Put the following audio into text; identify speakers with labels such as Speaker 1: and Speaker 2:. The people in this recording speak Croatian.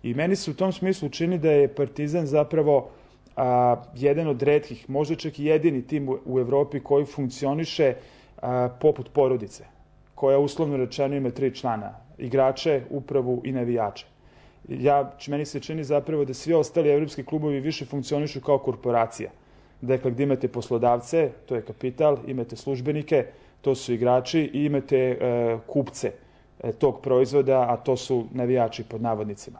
Speaker 1: I meni se u tom smislu čini da je Partizan zapravo jedan od retkih, možda čak i jedini tim u Evropi koji funkcioniše poput porodice, koja uslovno rečeno ima 3 člana, igrače, upravu i navijače. Meni se čini zapravo da svi ostali evropski klubovi više funkcionišu kao korporacija. Dakle, gdje imate poslodavce, to je kapital, imate službenike, to su igrači i imate kupce tog proizvoda, a to su navijači pod navodnicima.